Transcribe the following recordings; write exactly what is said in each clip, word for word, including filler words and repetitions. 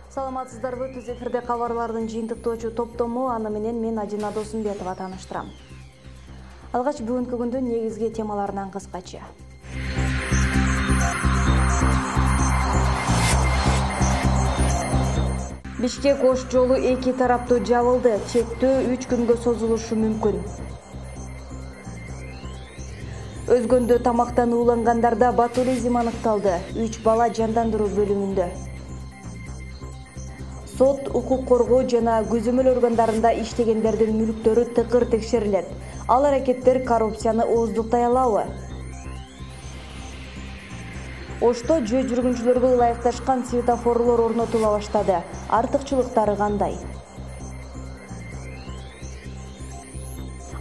Саламатсыздарбы, түз эфирде кабарлардын жыйынтыктоочу топтому, аны менен мен Ажина Досумбетова тааныштырам. Алгач бүгүнкү күндүн негизги темаларынан кыскача. Бишкек-Ош жолу эки тараптуу жабылды, чектөө үч күнгө созулушу мүмкүн. Өзгөндө тамактан уулангандарда ботулизм аныкталды, үч бала жандандыруу бөлүмүндө. Сот, укук коргоо жана көзөмөл органдарында иштегендердин мүлктөрү тыкыр текшерилет. Ал аракеттер коррупцияны ооздуктай алабы? Ошто жөө жүргүнчүлөргө ылайыкташкан светофорлор орнотула баштады. Артыкчылыктары кандай?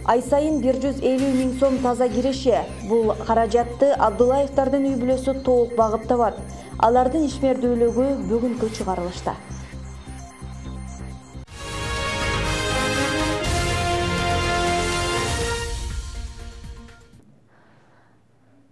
Ай сайын бир жүз элүү миң сом таза киреше. Бул каражатты Абдуллаевдардын үй бүлөсү толук багып табат. Алардын ишмердүүлүгү бүгүнкү чыгарылышта.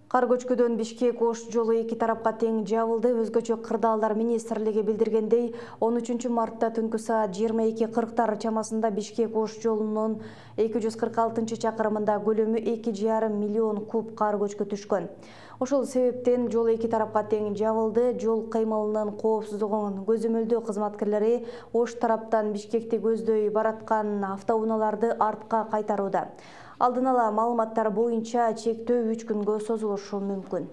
Кар көчкүдөн Бишкек-Ош жолу эки тарапка тең жабылды. Өзгөчө кырдаалдар министрлиги билдиргендей, он үчүнчү мартта түнкү саат жыйырма эки кырктар чамасында Бишкек-Ош жолунун эки жүз кырк алтынчы чакырымында көлөмү эки жарым миллион куб кар көчкү түшкөн. Ошол себептен жол эки тарапка тең жабылды. Жол кыймылынын коопсуздугун көзөмөлдөө кызматкерлери Ош тараптан Бишкекти көздөй бараткан автоунааларды артка кайтарууда. Алдын ала маалыматтар боюнча чектөө үч күнгө созулушу мүмкүн.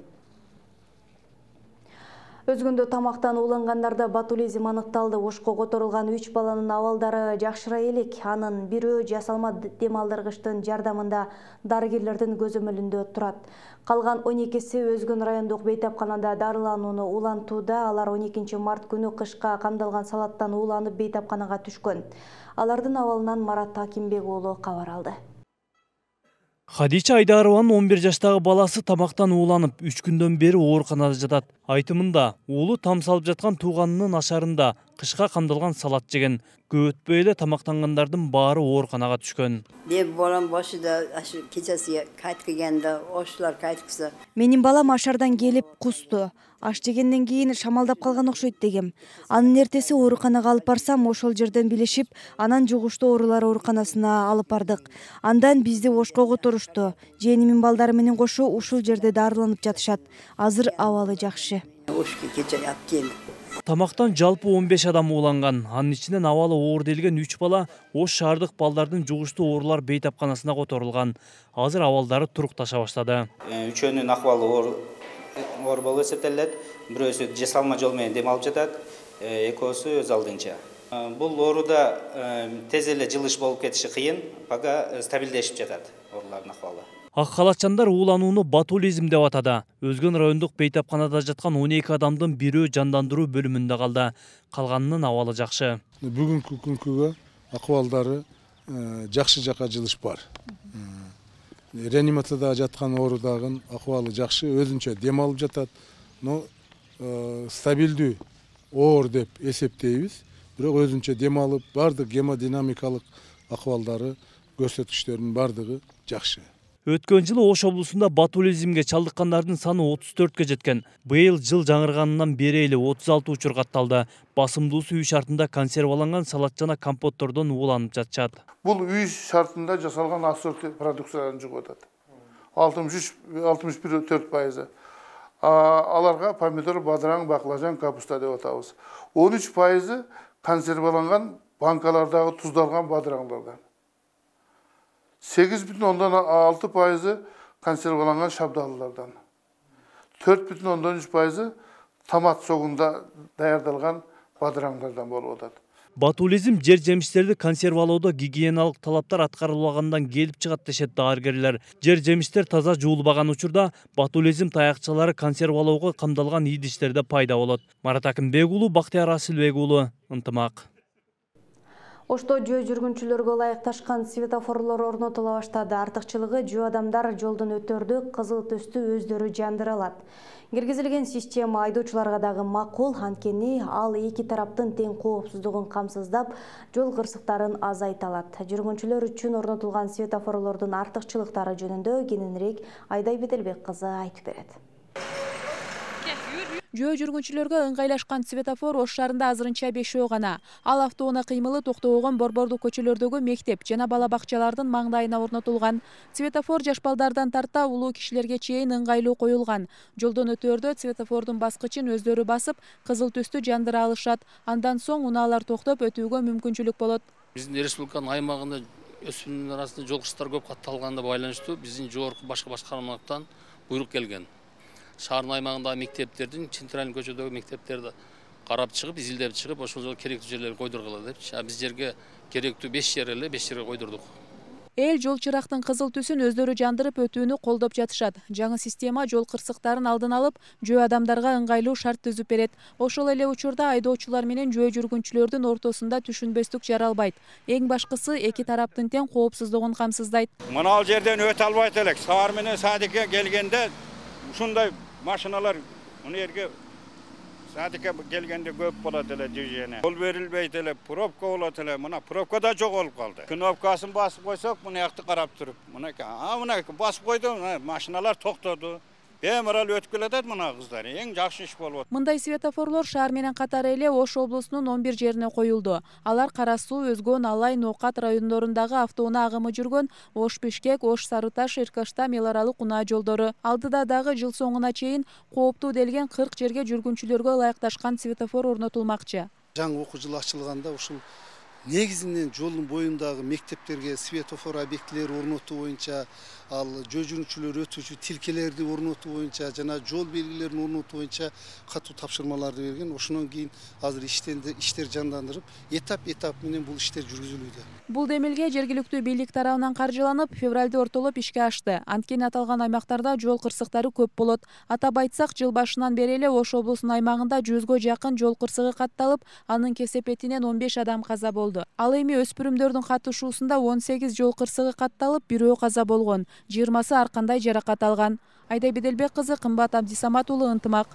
Өзгөндө тамактан уулангандарда ботулизм аныкталды. Ошко которулган үч баланын абалдары жакшыра элек. Анын бирөө жасалма дем алдыргычтын жардамында дарыгерлердин көзөмөлүндө турат. Калган он экиси Өзгөн райондук бейтапканада дарыланууну улантууда. Алар он экинчи март күнү кышка камдалган салаттан ууланып бейтапканага түшкөн. Алардын абалынан Марат Акимбек уулу кабар алды. Хадича Айдарованын он бир жаштагы баласы тамактан ууланып, үч күндөн бери ооруканада жатат. Айтымында, уулу там салып жаткан тууганынын ашарында кышка камдалган салат жеген. Көп өтпөй эле тамактангандардын баары ооруканага түшкөн. Деп балам башыда ашы кечеси кайтып келгенде ошолор кайткысы. Менин балам ашардан келип кусту. Аш жегенден кийин шамалдап калган окшойт дегем. Анын эртеси ооруканага алып барсам, ошол жерден билишип, анан жугуштуу оорулар ооруканасына алып бардык. Андан бизди Ошко которушту. Жээнимин балдары менен кошо ушул жерде дарыланып жатышат. Азыр абалы жакшы. Ошко кече ят келди. Тамактан жалпы он беш адам ууланган. Анын ичинен абалы оор делген үч бала Ош шаардык балдардын жугуштуу оорулар бейтапканасына которулган. Азыр абалдары турукташа баштады. Үчөөнүн акыбалы оор оор болуп эсептелет. Бирөөсү жасалма жол менен дем алып жатат, экөөсү өз алдынча. Бул ооруда тез эле жылыш болуп кетиши кыйын, пока стабилдешип жатат оорулардын акыбалы. Ак халатчандар ууланууну ботулизм деп атады. Өзгөн райондук бейтапканада жаткан он эки адамдын бирөө жандандыруу бөлүмүндө калды. Калганынын абалы жакшы. Бүгүнкү күнгө акыбалдары жакшы жакка жылыш бар. Реанимацияда жаткан оорудагын акыбалы жакшы, өзүнчө дем алып жатат. Но стабилдүү оор деп эсептейбиз. Бирок өзүнчө дем алып, бардык гемодинамикалык акыбалдары, көрсөткүчтөрүнүн бардыгы жакшы. Өткөн жылы Ош облусунда ботулизмге чалдыккандардын саны отуз төрткө жеткен. Быйыл жыл жаңырганынан бери эле отуз алты учур катталды. Басымдуусу үй шартында консерваланган салат жана компоттордон ууланып жатышат. Бул үй шартында жасалган ассорти продукцияларын жугуп атат. алтымыш үч алтымыш бир төрт пайызы. Аларга помидор, бадыраң, баклажан, капуста деп атабыз. он үч пайызы консерваланган банкалардагы туздалган бадыраңдардан. сегиз бүтүн ондон алты пайызы консерваланган шабдалылардан. төрт бүтүн ондон үч пайызы томат согунда даярдалган бадыраңдардан болуп атат. Ботулизм жер жемиштерди консервалоодо гигиеналык талаптар аткарылбагандан келип чыгат дешет дааргерлер. Жер жемиштер таза жуулбаган учурда ботулизм таякчалары консервалоого камдалган идиштерде пайда болот. Марат Акимбек уулу, Бактияр Асылбек уулу, Ынтымак. Ошто жөө жүргүнчүлөргө ылайыкташкан светофорлор орнотула баштады. Артыкчылыгы жөө адамдар жолдон өтөрдү кызыл түстү өздөрү жандыра алат. Киргизилген система айдоочуларга дагы макул, анткени ал эки тараптын тең коопсуздугун камсыздап, жол кырсыктарын азайта алат. Жүргүнчүлөр үчүн орнотулган светофорлордун артыкчылыктары жөнүндө кененирээк Айдай Бетелбек кызы айтып берет. Жөө жүргүнчүлөргө ыңгайлашкан светофор Ош шаарында азырынча бешөө гана. Ал автоунаа кыймылы токтогон борбордук көчөлөрдөгү мектеп жана бала бакчалардын маңдайына орнотулган. Светофор жаш балдардан тарта улуу кишилерге чейин ыңгайлуу коюлган. Жолдон өтөөрдө светофордун баскычын өздөрү басып, кызыл түстү жандыра алышат. Андан соң унаалар токтоп өтүүгө мүмкүнчүлүк болот. Биздин республиканын аймагында өспүрүмдөр арасында жол кырсыктары көп катталганына байланыштуу биздин жогорку башкы башкармалыктан буйрук келген. Шаардын аймагындагы мектептердин, центральный көчөдөгү мектептерди карап чыгып, изилдеп чыгып, ошол жолу керектүү жерлерге койдургула депчи. А биз жерге керектүү беш жер эле беш жерге койдурдук. Эл жол чырактын кызыл түсүн өздөрү жандырып өтүүнү колдоп жатышат. Жаңы система жол кырсыктарын алдын алып, жөө адамдарга ыңгайлуу шарт түзүп берет. Ошол эле учурда айдоочулар менен жөө жүргүнчүлөрдүн ортосунда түшүнбөстүк жаралбайт. Эң башкысы эки тараптын тең коопсуздугун камсыздайт. Мына ал жерден өтө албайт элек. Саар менен садикке келгенде ушундай машиналар мына жерге садикке келгенде көп болот эле движение. Жол берилбейт эле, пробка болот эле. Мына пробка да жоголуп калды. Кнопкасын басып койсок, мына жакты карап туруп, мына а мына басып койду, машиналар токтоду. Бемарал өтүп келатат мына кыздар. Эң жакшы иш болуп. Мындай светофорлор шаар менен катары эле Ош облусунун он бир жерине коюлду. Алар Кара Суу, Өзгөн, Алай, Ноокат райондорундагы автоунаа агымы жүргөн Ош Бишкек, Ош Сарыташ, Иркаштам, эл аралык унаа жолдору. Алдыда дагы жыл соңуна чейин кооптуу делген кырк жерге жүргүнчүлөргө ылайыкташкан светофор орнотулмакчы. Жаңы окуу жылы ачылганда ушул негизинен жолдун боюндагы мектептерге светофор объектилери орнотуу боюнча, ал жөө жүргүнчүлөр өтүүчү тилкелерди орнотуу боюнча жана жол белгилерин орнотуу боюнча катуу тапшырмаларды берген. Ошондон кийин азыр иштенди, иштер жандандырып, этап-этап менен бул иштер жүргүзүлүүдө. Бул демилге жергиликтүү бийлик тарабынан каржыланып, февралда ортолоп ишке ашты. Анткени аталган аймактарда жол кырсыктары көп болот. Атап айтсак, жыл башынан бери эле Ош облусунун аймагында жүзгө жакын жол кырсыгы катталып, анын кесепетинен он беш адам каза болду. Ал эми өспүрүмдөрдүн катышуусунда он сегиз жол кырсыгы катталып, бирөө каза болгон, жыйырмасы ар кандай жаракат алган. Айда Беделбек кызы, Кымбат Абдисамат уулу, Ынтымак.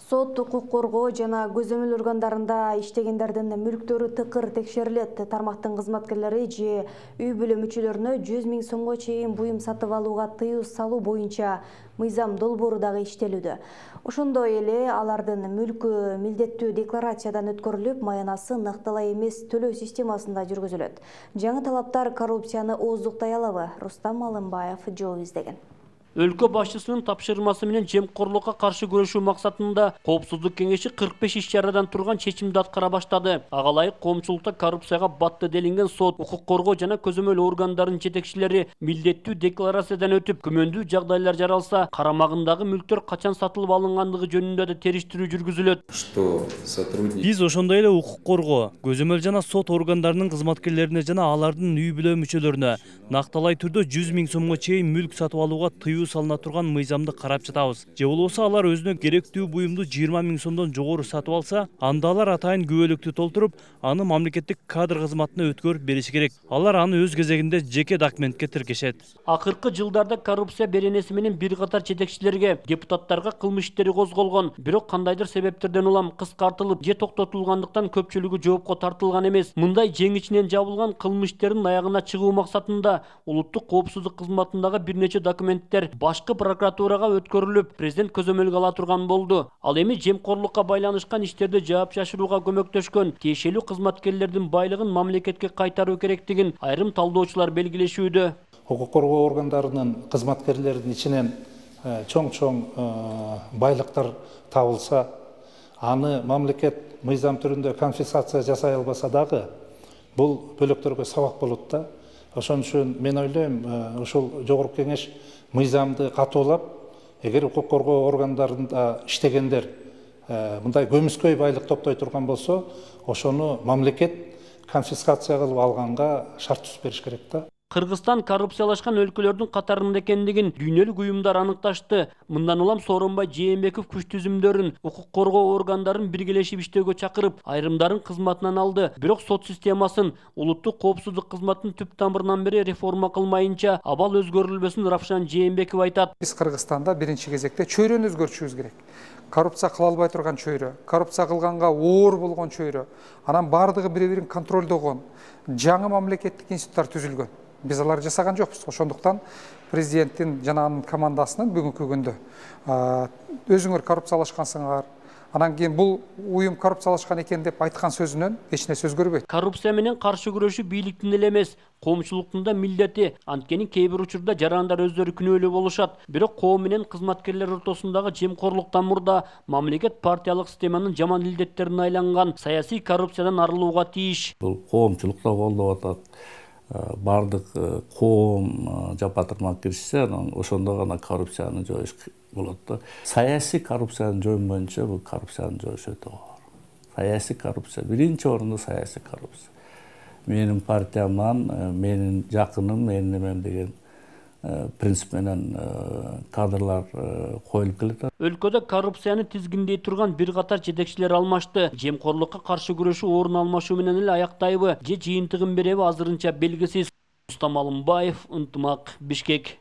Сот, укук коргоо жана көзөмөл органдарында иштегендердин мүлктөрү тыкыр текшерилет. Тармактын кызматкерлери же үй бүлө мүчөлөрүнө жүз миң сомго чейин буюм сатып алууга тыюу салуу боюнча мыйзам долбоору дагы иштелүүдө. Ошондой эле алардын мүлкү милдеттүү декларациядан өткөрүлүп, маянасы накталай эмес төлөө системасында жүргүзүлөт. Жаңы талаптар коррупцияны ооздуктай алабы? Рустам Алымбаев жол издеген. Өлкө башчысынын тапшырмасы менен жемкорлукка каршы күрөшүү максатында Коопсуздук кеңеши кырк беш иш-чарадан турган чечимди аткара баштады. Ага ылайык коомчулукта коррупцияга батты делинген сот, укук коргоо жана көзөмөл органдарынын жетекчилери милдеттүү декларациядан өтүп, күмөндүү жагдайлар жаралса, карамагындагы мүлктөр качан сатылып алынгандыгы жөнүндө да териштирүү жүргүзүлөт. Биз ошондой эле укук коргоо, көзөмөл жана сот органдарынын кызматкерлерине жана алардын үй бүлө мүчөлөрүнө накталай түрдө жүз миң сомго чейин мүлк сатып алууга тыюу салына турган мыйзамды карап жатабыз. Же болбосо алар өзүнө керектүү буюмду жыйырма миң сомдон жогору сатып алса, анда алар атайын күбөлүктү толтуруп, аны мамлекеттик кадр кызматына өткөрүп бериши керек. Алар аны өз кезегинде жеке документке тиркешет. Акыркы жылдарда коррупция беренеси менен бир катар жетекчилерге, депутаттарга кылмыш иштери козголгон, бирок кандайдыр себептерден улам кыскартылып же токтотулгандыктан көпчүлүгү жоопко тартылган эмес. Мындай жең ичинен жабылган кылмыш иштердин аягына чыгуу максатында улуттук коопсуздук кызматындагы бир нече документтер башкы прокуратурага өткөрүлүп, президент көзөмөлгө ала турган болду. Ал эми жемкорлукка байланышкан иштерди жаапчашырууга көмөктөшкөн тиешелүү кызматкерлердин байлыгын мамлекетке кайтаруу керектигин айрым талдоочулар белгилешүүдө. Укук коргоо органдарынын кызматкерлеринин ичинен чоң-чоң байлыктар табылса, аны мамлекет мыйзам түрүндө конфискация жасай албаса дагы, бул бөлөктөргө сабак болот да. Ошон үчүн мен ойлойм, ушул жогорку кеңеш мыйзамды катуулап, эгер укук коргоо органдарында иштегендер мындай көмүскөй байлык топтой турган болсо, ошону мамлекет конфискация кылып алганга шарт түзүп бериш керек да. Кыргызстан коррупциялашкан өлкөлөрдүн катарында экендигин дүйнөлүк уюмдар аныкташты. Мындан улам Сооронбай Жээнбеков күч түзүмдөрүн, укук коргоо органдарын биргелешип иштөөгө чакырып, айрымдарын кызматынан алды. Бирок сот системасын, улуттук коопсуздук кызматын түп тамырынан бери реформа кылмайынча абал өзгөрүлбөсүн Равшан Жээнбеков айтат. Биз Кыргызстанда биринчи кезекте чөйрөнү өзгөртүшүбүз керек. Коррупция кыла албай турган чөйрө, коррупция кылганга оор болгон чөйрө, анан бардыгы бири-бирин контролдогон жаңы мамлекеттик институттар түзүлгөн. Биз аларды жасаган жокпуз. Ошондуктан президенттин жана анын командасынын бүгүнкү күндө өзүңөр коррупциялашкансыңар, анан кийин бул уюм коррупциялашкан экен деп айткан сөзүнөн эч нерсе өзгөрбөйт. Коррупция менен каршы күрөшүү бийликтин эле эмес, коомчулуктун да милдети. Анткени кээ бир учурда жарандар өздөрү күнөөлүү болушат. Бирок коом менен кызматкерлер ортосундагы жемкорлуктан мурда мамлекет партиялык системанын жаман илдеттерине айланган, саясий коррупциядан арылууга тийиш. Бул коомчулукта колдоп атат. Бардык коом жапатырмак киришсе, ошондо гана коррупцияны жоюш болот да. Саясий коррупцияны жоймойнчо бул коррупцияны жоюш өтө оор. Саясий коррупция, биринчи орунда саясий коррупция. Менин партияман, менин жакыным, менин эмем деген принцип менен кадрлар коюлуп келет. Өлкөдө коррупцияны тизгиндей турган бир катар жетекчилер алмашты. Жемкорлукка каршы күрөшүү орун алмашуу менен эле аяктайбы же жыйынтыгын береби азырынча белгисиз. Рустам Алымбаев, Ынтымак, Бишкек.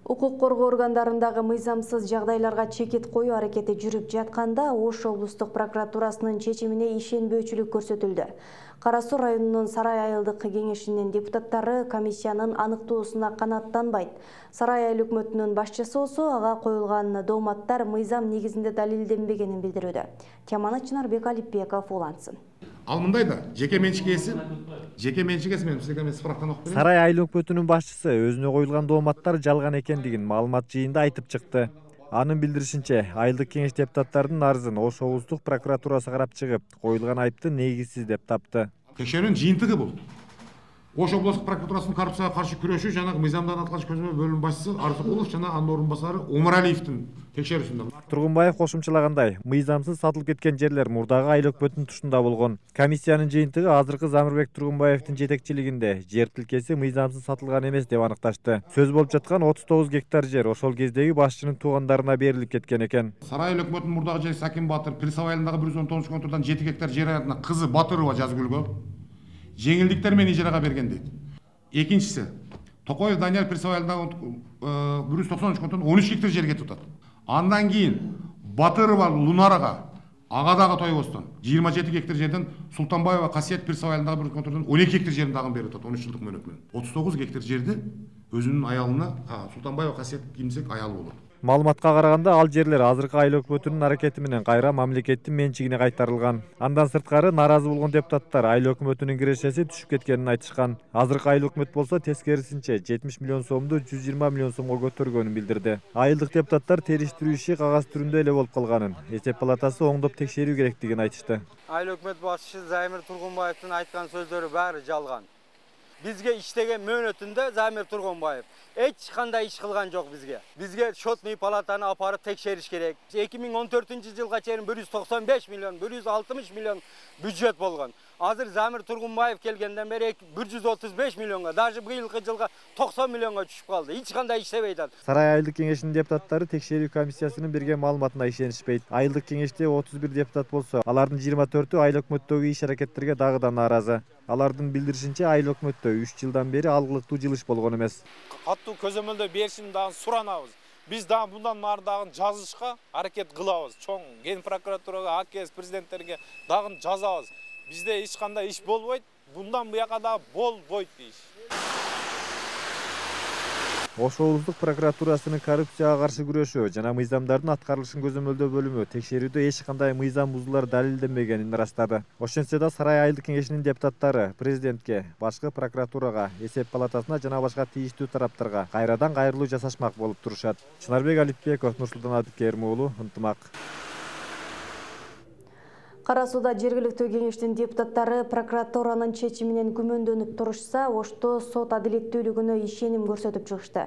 Укук коргоо органдарындагы мыйзамсыз жагдайларга чекит коюу аракети жүрүп жатканда Ош облустук прокуратурасынын чечимине ишенбөөчүлүк көрсөтүлдү. Кара Суу районунун Сарай айылдык кеңешинин депутаттары комиссиянын аныктоосуна канааттанбайт. Сарай айыл өкмөтүнүн башчысы болсо ага коюлган дооматтар мыйзам негизинде далилденбегенин билдирүүдө. Теманы Чынарбек Алипбеков улантсын. Ал мындай да, жеке менчик ээси, жеке менчик ээси менен сизге мен справканы окуп берейин. Сарай айыл өкмөтүнүн башчысы өзүнө коюлган дооматтар жалган экендигин маалымат жыйында айтып чыкты. Анын билдиришинче, айылдык кеңеш депутаттарынын арызын Ош облустук прокуратурасы карап чыгып, коюлган айыпты негизсиз деп тапты. Текшерүүнүн жыйынтыгы бул. Ош облустук прокуратурасынын коррупцияга каршы күрөшүү жана мыйзамдын аткарыш көзөмөл бөлүм башчысы Арзыкулов жана анын орун басары Омаралиевдин текшерүүсүндө. Тургунбаев кошумчалагандай, мыйзамсыз сатылып кеткен жерлер мурдагы айыл өкмөтүнүн тушунда болгон. Комиссиянын жыйынтыгы азыркы Замирбек Тургунбаевдин жетекчилигинде жер тилкеси мыйзамсыз сатылган эмес деп аныкташты. Сөз болуп жаткан отуз тогуз гектар жер ошол кездеги башчынын туугандарына берилип кеткен экен. Сарай айыл өкмөтүнүн мурдагы жери Сакин Батыр, Присав айылындагы бир жүз он тогузунчу контурдан жети гектар жер аянтына кызы Батырова Жазгүлгө жеңилдиктер менен ижарага берген дейт. Экинчиси, Токоев Данияр Присав айылындагы бир жүз токсон үч контурдан он үч гектар жерге тутат. Андан кийин Батырова Лунарага ага дагы тойбостон жыйырма жети гектар жерден Султанбаева Касиет Присав айылындагы бир контурдан он эки гектар жерин дагы берип атат он үч жылдык мөөнөт менен. отуз тогуз гектар жерди өзүнүн аялына, Султанбаева Касиет кимсек аялы болот. Маалыматка караганда ал жерлер азыркы айыл өкмөтүнүн аракети менен кайра мамлекеттин менчигине кайтарылган. Андан сырткары нааразы болгон депутаттар айыл өкмөтүнүн кирешеси түшүп кеткенин айтышкан. Азыркы айыл өкмөт болсо тескерисинче жетимиш миллион сомду жүз жыйырма миллион сомго көтөргөнүн билдирди. Айылдык депутаттар териштирүү иши кагаз түрүндө эле болуп калганын, эсеп палатасы оңдоп текшерүү керектигин айтышты. Айыл өкмөт башчысы Замир Тургунбаевдин айткан сөздөрү баары жалган. Бизге иштеген мөөнөтүндө Замир Тургунбаев эч кандай иш кылган жок бизге. Бизге счетный палатаны апарып текшериш керек. эки миң он төртүнчү жылга чейин бир жүз токсон беш миллион, бир жүз алтымыш миллион бюджет болгон. Азыр Замир Тургунбаев келгенден бери бир жүз отуз беш миллионго, даже быйылкы жылга токсон миллионго түшүп калды. Эч кандай иштебей атат. Сарай айылдык кеңешинин депутаттары текшерүү комиссиясынын берген маалыматына ишенишпейт. Айылдык кеңеште отуз бир депутат болсо, алардын жыйырма төртү айыл өкмөттөгү иш аракеттерге дагы да нааразы. Алардын билдиришинче айыл өкмөттө үч жылдан бери алгылыктуу жылыш болгон эмес. Каттуу көзөмөлдө беришин дагы суранабыз. Биз дагы мындан нары дагы жазышка аракет кылабыз. Чоң ген прокуратурага, АКС президенттерге дагы жазабыз. Бизде эч кандай иш болбойт, bundan буяка дагы болбойт иш. Ош облустук прокуратурасынын коррупцияга каршы күрөшүү жана мыйзамдардын аткарылышын көзөмөлдөө бөлүмү текшерүүдө эч кандай мыйзам бузуулар далилденбегенин ырастады. Ошентсе да Сарай айылдык кеңешинин депутаттары президентке, башкы прокуратурага, эсеп палатасына жана башка тийиштүү тараптарга кайрадан кайрылуу жасашмак болуп турушат. Чынарбек Алипбеков, Нурсултан Абдикерим уулу, Ынтымак. Кара Сууда жергиликтүү кеңештин депутаттары прокуратуранын чечиминен күмөндөнүп турушса, Ошто сот адилеттүүлүгүнө ишеним көрсөтүп чыгышты.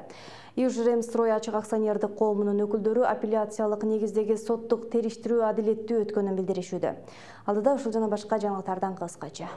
Южремстрой ачык акционердик коомунун өкүлдөрү апелляциялык негиздеги соттук териштирүү адилеттүү өткөнүн билдиришүүдө. Алдыда ушул жана башка жаңылыктардан кыскача.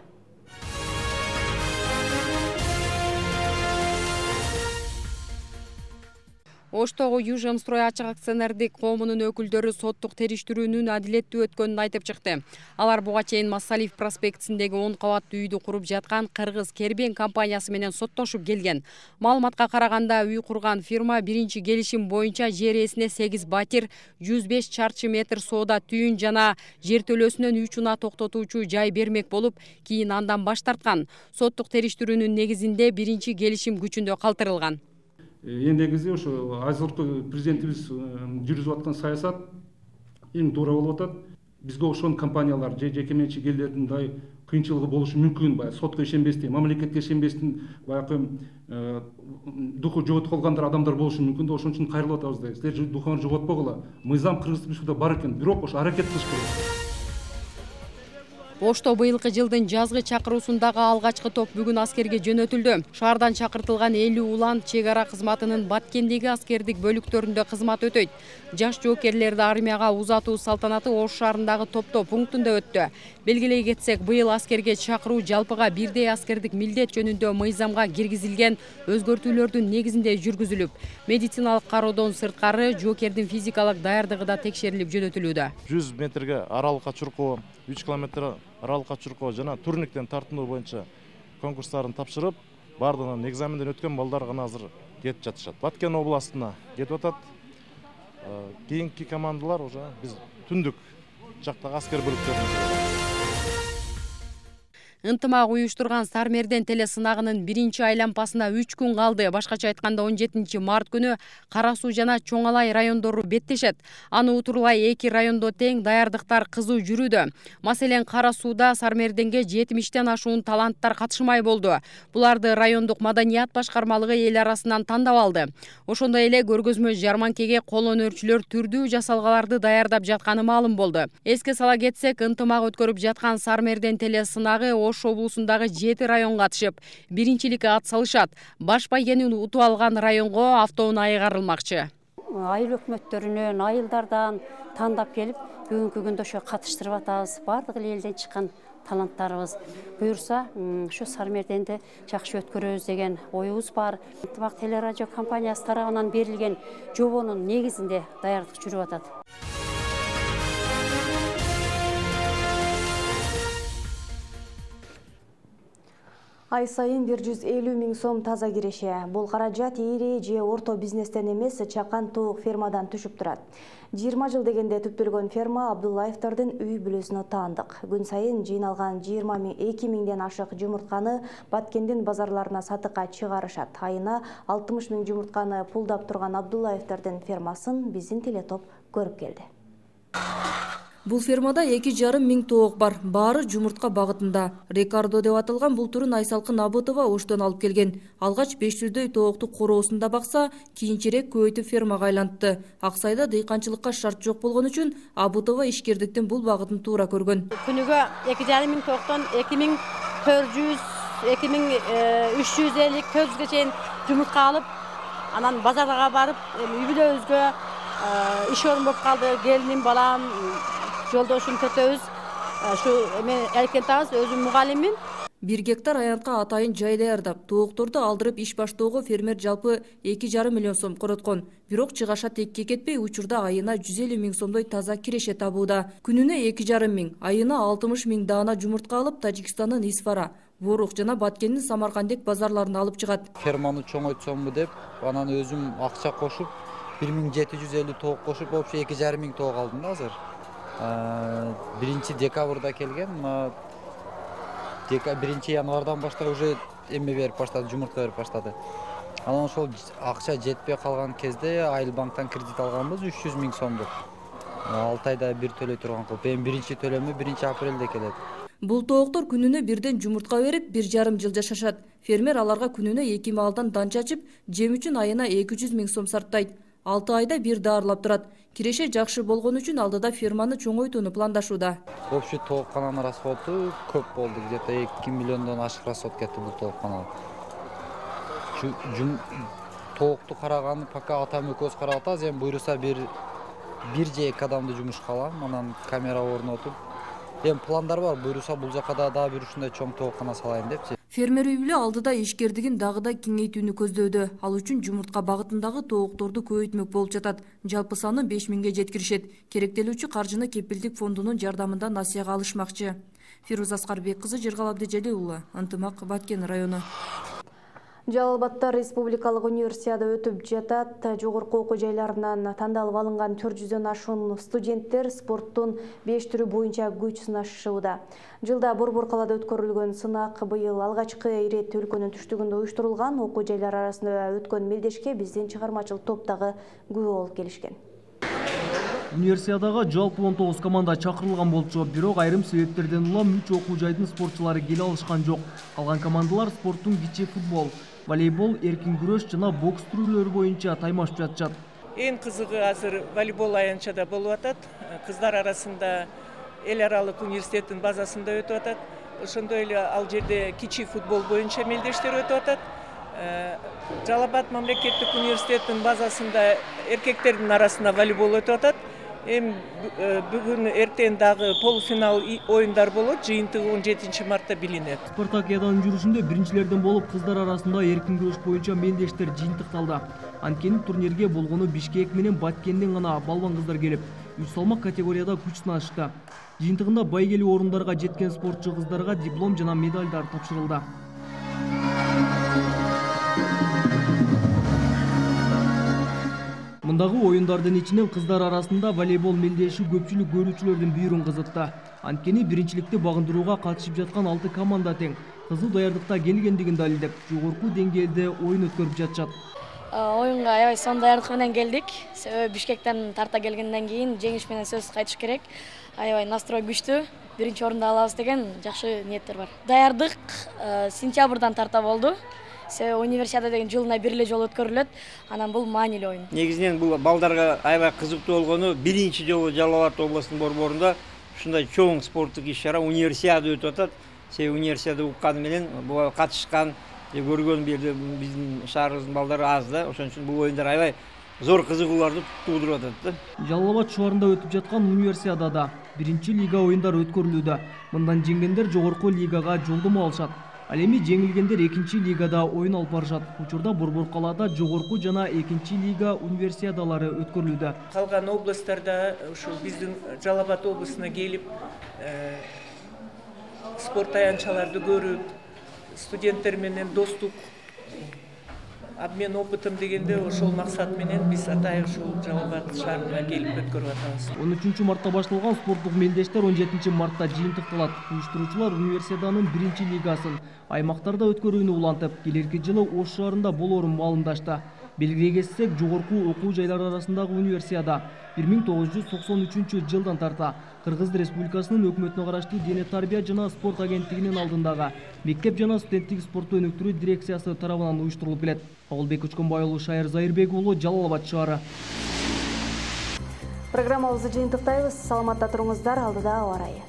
Оштогу Южемстрой ачык акционердик коомунун өкүлдөрү соттук териштирүүнүн адилеттүү өткөнүн айтып чыкты. Алар буга чейин Массалиев проспектисиндеги он кабаттуу үйдү куруп жаткан Кыргыз Кербен компаниясы менен соттошуп келген. Маалыматка караганда, үй курган фирма биринчи келишим боюнча жер ээсине сегиз батир, жүз беш чарчы метр соода түйүн жана жер төлөөсүнөн үч уна токтотуучу жай бермек болуп, кийин андан баш тарткан. Соттук териштирүүнүн негизинде биринчи келишим күчүндө калтырылган. Негизи ошо азыркы президентибиз жүргүзүп аткан саясат эң туура болуп атат. Бизге окшогон компаниялар же жеке менчик элдердин дай кыйынчылыгы болушу мүмкүн, баягы сотко ишенбестен, мамлекетке ишенбестен баягы духу жоготуп калгандар адамдар болушу мүмкүн да, ошон үчүн кайрылып атабыз да. Силер духуңарды жоготпогула. Мыйзам Кыргыз Республикасында бар экен, бирок ошо аракет кылыш керек. Ошто быйылкы жылдын жазгы чакыруусундагы алгачкы топ бүгүн аскерге жөнөтүлдү. Шаардан чакыртылган элүү улан чек ара кызматынын Баткендеги аскердик бөлүктөрүндө кызмат өтөйт. Жаш жоокерлерди армияга узатуу салтанаты Ош шаарындагы топтоо пунктунда өттү. Белгилей кетсек, быйыл аскерге чакыруу жалпыга бирдей аскердик милдет жөнүндө мыйзамга киргизилген өзгөртүүлөрдүн негизинде жүргүзүлүп, медициналык кароодон сырткары жоокердин физикалык даярдыгы да текшерилип жөнөтүлүүдө. жүз метрге аралыкка чуркоо, үч километр аралыкка чуркоо жана турниктен тартынуу боюнча конкурстарын тапшырып, бардыгынан экзаменден өткөн балдар гана азыр кетип жатышат. Баткен областына кетип атат. Кийинки командалар уже биз түндүк жактагы аскер бөлүктөрүнө. Ынтымак уюштурган Сармерден теле сынагынын биринчи айлампасына үч күн калды. Башкача айтканда он жетинчи март күнү Кара Суу жана Чоң Алай райондору беттешет. Аны утурлай эки райондо тең даярдыктар кызуу жүрүүдө. Маселен, Кара Сууда Сармерденге жетимиштен ашуун таланттар катышмай болду. Буларды райондук маданият башкармалыгы эл арасынан тандап алды. Ошондой эле көргөзмө жарманкеге кол өнөрчүлөр түрдүү жасалгаларды даярдап жатканы маалым болду. Эске сала кетсек, ынтымак өткөрүп жаткан Сармерден теле сынагы Ош облусундагы жети район катышып, биринчиликке ат салышат. Баш байгенин утуп алган районго автоунаа кайрылмакчы. Айыл өкмөттөрүнөн, айылдардан тандап келип, бүгүнкү күндө ошо катыштырып атабыз. Бардык элден чыккан таланттарыбыз. Буюрса, ушу Сармерденди жакшы өткөрөбүз деген оюбуз бар. Ынтымак телерадио компаниясы тарабынан берилген жобонун негизинде даярдык жүрүп атат. Ай сайын бир жүз элүү миң сом таза киреше. Бул каражат ири же орто бизнестен эмес, чакан туук фермадан түшүп турат. жыйырма жыл дегенде түптөлгөн ферма Абдуллаевдардын үй бүлөсүнө таандык. Күн сайын жыйналган жыйырма эки миңден ашык жумуртканы Баткендин базарларына сатыкка чыгарышат. Айына алтымыш миң жумуртканы пулдап турган Абдуллаевдардын фермасын биздин телетоп көрүп келди. Бул фермада эки жарым миң тоок бар, баары жумуртка багытында. Рикардо деп аталган бул түрүн Айсалкын Абытова Оштон алып келген. Алгач беш жүздөй тоокту короосунда бакса, кийинчерээк көбөйтүп фермага айлантты. Аксайда дыйканчылыкка шарт жок болгон үчүн Абытова ишкердиктин бул багытын туура көргөн. Күнүгө эки жарым миң тооктон эки миң төрт жүз, эки миң үч жүз элүү, төрт жүзгө чейин жумуртка алып, анан базарга барып, үй бүлөбүзгө иш орун болуп калды. Келиним, балам, жолдошум төтөбүз, ушу мен эркентабыз, өзүм мугалиммин. Бир гектар аянтка атайын жай даярдап, тоокторду алдырып иш баштоого фермер жалпы эки жарым миллион сом короткон. Бирок чыгаша текке кетпей, учурда айына жүз элүү миң сомдой таза киреше табууда. Күнүнө эки жарым миң, айына алтымыш миң даана жумуртка алып, Тажикстандын Исфара, Ворук жана Баткендин Самаркандек базарларына алып чыгат. Ферманы чоңойтсомбу деп, анан өзүм акча кошуп, бир миң жети жүз элүү тоок кошуп, вообще эки жарым миң тоок алдым да азыр. Биринчи декабрда келген, биринчи январдан баштап уже эме берип баштады, жумуртка берип баштады. Анан ошол акча жетпей калган кезде Айыл банктан кредит алганбыз үч жүз миң сомдук. алты айда бир төлөй турган кылып, эми биринчи төлөмү биринчи апрелде келет. Бул тооктор күнүнө бирден жумуртка берип, бир жарым жыл жашашат. Фермер аларга күнүнө эки маалдан дан чачып, жем үчүн айына эки жүз миң сом сарптайт. алты айда бир даарылап турат. Киреше жакшы болгон үчүн алдыда ферманы чоңойтууну пландашууда. Общий тооккананын расходу көп болду. Где-то эки миллиондон ашык расход кетти бул тоокканага. Тоокту караганы пока атам экөөбүз карап атабыз. Эми буйруса бир бир же эки адамды жумушка алам, анан камера орнотуп. Эми пландар бар, буйруса бул жака дагы бир ушундай чоң тооккана салайын депчи. Фермер үй бүлө алдыда ишкердигин дагы да кеңейтүүнү көздөдө. Ал үчүн жумуртка багытындагы тоокторду көбөйтмөк болуп жатат. Жалпы саны беш миңге жеткиришет. Керектелүүчү каржыны кепилдик фондунун жардамында насыяга алышмакчы. Фируза Аскарбек кызы, Жыргал Абдыжалил уулу, Ынтымак, Баткен району. Жалал Абадта республикалык универсиада өтүп жатат. Жогорку окуу жайларынан тандалып алынган төрт жүздөн ашуун студенттер спорттун беш түрү боюнча күч сынашууда. Жылда Борбор калада өткөрүлгөн сынак быйыл алгачкы ирет өлкөнүн түштүгүндө уюштурулган. Окуу жайлар арасында өткөн мелдешке биздин чыгармачылык топтогу күбө болуп келишкен. Универсиадага жалпы он тогуз команда чакырылган болчу, бирок айрым себептерден улам үч окуу жайдын спортчулары келе алышкан жок. Калган командалар спорттун кичи футбол, волейбол, эркин күрөш жана бокс түрлөрү боюнча таймашып жатышат. Эң кызыгы азыр волейбол аянтчада болуп атат. Кыздар арасында эл аралык университеттин базасында өтүп атат. Ошондой эле ал жерде кичи футбол боюнча мелдештер өтүп атат. Жалал Абад мамлекеттик университеттин базасында эркектердин арасында волейбол өтүп атат. Эми бүгүн эртең дагы полуфинал оюндар болот. Жыйынтыгы он жетинчи мартта билинет. Спартакиаданын жүрүшүндө биринчилерден болуп кыздар арасында эркин күрөш боюнча мелдештер жыйынтыкталды. Анткени турнирге болгону Бишкек менен Баткенден гана балбан кыздар келип, үч салмак категорияда күч сынашты. Жыйынтыгында байгелүү орундарга жеткен спортчу кыздарга диплом жана медалдар тапшырылды. Мындагы оюндардын ичинен кыздар арасында волейбол мелдеши көпчүлүк көрүүчүлөрдүн бүйүрүн кызытты. Анткени биринчиликти багындырууга катышып жаткан алты команда тең. Кызыл даярдыкта келгендигин далилдеп, жогорку деңгээлде оюн өткөрүп жатышат. Оюнга аябай сонун даярдык менен келдик. Себеби Бишкектен тарта келгенден кийин жеңиш менен сөзсүз кайтыш керек. Аябай настрой күчтүү. Биринчи орунду алабыз деген жакшы ниеттер бар. Даярдык сентябрдан тарта болду. Себеби универсиада деген жылына бир эле жолу өткөрүлөт. Анан бул маанилүү оюн. Негизинен бул балдарга аябай кызыктуу болгону биринчи жолу Жалал Абад областынын борборунда ушундай чоң спорттук иш-чара универсиада өтүп атат. Себеби универсиада укканы менен буга катышкан, көргөн биздин шаарыбыздын балдары аз да. Ошон үчүн бул оюндар аябай зор кызыгууларды туудуруп атат да. Жалал Абад шаарында өтүп жаткан универсиадада биринчи лига оюндары өткөрүлүүдө. Мындан жеңгендер жогорку лигага жолдомо алышат. Ал эми жеңилгендер экинчи лигада оюн алып барышат. Учурда Борбор калаада жогорку жана экинчи лига универсиадалары өткөрүлүүдө. Калган областтарда ушул биздин Жалал Абад облусуна келип спорт аянтчаларды көрүп, студенттер менен достук, обмен опытым дегенде ошол максат менен биз атай ушул Жалал Абад шаарына келип өткөрүп атабыз. он үчүнчү мартта башталган спорттук мелдештер он жетинчи мартта жыйынтыкталат. Уюштуруучулар универсиаданын биринчи лигасын аймактарда өткөрүүнү улантып, келерки жылы Ош шаарында болоорун маалымдашты. Белгилей кетсек, жогорку окуу жайлары арасындагы универсиада бир миң тогуз жүз токсон үчүнчү жылдан тарта Кыргыз Республикасынын өкмөтүнө караштуу Дене тарбия жана спорт агенттигинин алдындагы мектеп жана студенттик спортту өнүктүрүү дирекциясы тарабынан уюштурулуп келет. Огулбек Көчкөнбай уулу, Шайыр Зайырбек уулу, Жалал Абад шаары. Программабызды жыйынтыктайбыз. Саламатта туруңуздар, алдыда аба ырайы.